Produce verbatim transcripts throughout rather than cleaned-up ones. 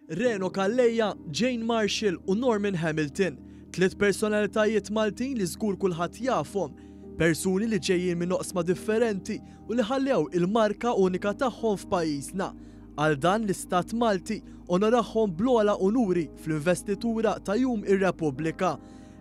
Reno Calleja, Jane Marshall u Norman Hamilton, tliet personalitajiet Maltin li żgur kulħadd jafhom, persuni li ġejjin minn oqsma differenti u li ħallew il-marka unika tagħhom f'pajjiżna. Għal dan l-Istat Malti onorahom bl-ogħla unuri fl-investitura ta' Jum ir-Repubblika.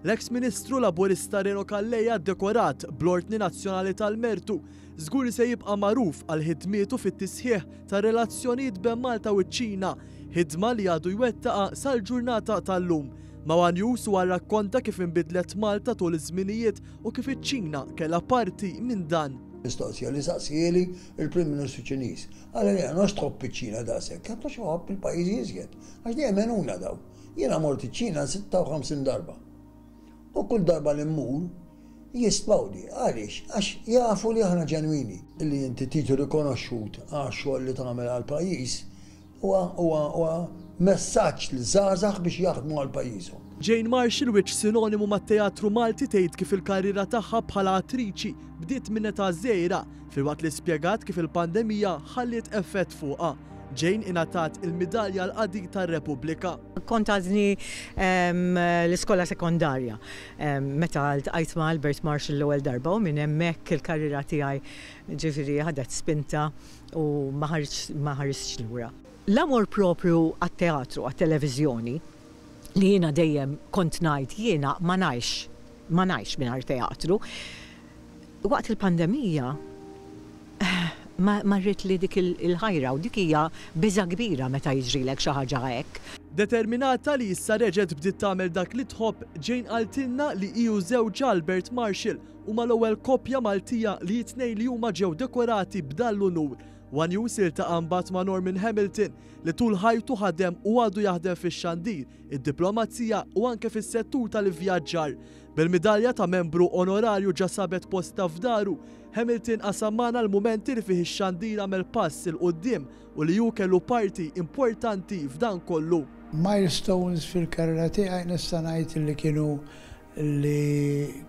L-eks Ministru Laburista Reno Calleja, dekorat bl-Ordni Nazzjonali tal-Mertu, żgur li se jibqa' magħruf għal ħidmietu fit-tisħiħ ta' relazzjonijiet bejn Malta u ċ-Ċina, ħidma li għadu jwettaqa sal-ġurnata tal-lum. Ma' One News huwa rrakkonta kif inbidlet Malta tul iż-żminijiet u kif iċ-Ċina kellha parti minn dan. Mistoqsija li saqsieli il-Prim Ministru Ċiniż. Qalli li għax tħobb iċ-Ċina daqshekk, għax tħobb il-pajjiżi iżjed. Għax dejjem għenuna daw. Jiena mort iċ-Ċina sitta u ħamsin darba. U kull darba li mmur jistmawni. Għaliex? Għax jafu li aħna ġenwini. Illi inti tiġi rikonoxxut għax xogħol li tagħmel għal pajjiż huwa huwa huwa messaġġ liż-żgħażagħ biex jaħdmu għal pajjiżhom. Jane Marshall, wiċċ sinonimu mat-teatru Malti, tgħid kif il-karriera tagħha bħala attriċi bdiet minn età żgħira, filwaqt li spjegat kif il-pandemija ħalliet effett fuqha. Jane ingħatat il-midalja l-qadi tar-Repubblika. Kont għadni l-iskola sekondarja meta ltqajt ma' Albert Marshall l-ewwel darba u minn hemmhekk il-karriera tiegħi ġifieri ħadet spinta u ma ħaristx lura. L-amor propju għat-teatru, għat-televiżjoni, li jiena dejjem kont ngħid jiena ma ngħix, ma ngħix mingħajr teatru. Waqt il-pandemija marrit li dik il-ħajra u dik hija biża kbira meta jiġrilek xi ħaġa hekk. Determinata li issa reġgħet bdiet tagħmel dak li tħobb, Jane qaltilna li hi u żewġha Albert Marshall huma l-ewwel koppja Maltija li jitnej li huma ġew dekorati b'dan l-unur. One News iltaqa' mbagħad ma' Norman Hamilton, li tul ħajtu ħadem u għadu jaħdem fix-xandir, id-diplomazija u anke fis-settur tal-ivvjaġġar. Bil-midalja ta' membru onorarju ġa sabet posta f'daru, Hamilton qasam magħna l-mumenti li fih ix-xandir għamel pass 'il quddiem u li hu kellu parti importanti f'dan kollu. Milestones fil-karriera tiegħi nista' ngħid li kienu li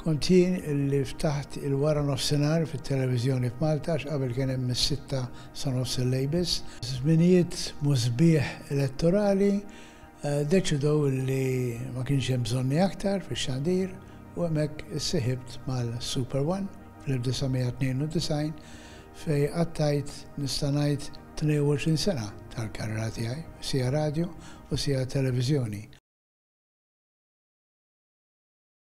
kont jien li ftaħt il-wara nofsinhar fit-televiżjoni f'Malta, għax qabel kien hemm mis-sitta sa nofs il-lejl biss. Żminijiet musbieħ elettorali eh, deċidew li ma kienx hemm bżonni aktar fix-xandir u hemmhekk issiħibt mal-Super One fl-elf disa' mija tnejn u disgħin, fejn qattajt, nista' ngħid, tnejn u għoxrin sena tal-karriera tiegħi, sija radio u sija televiżjoni.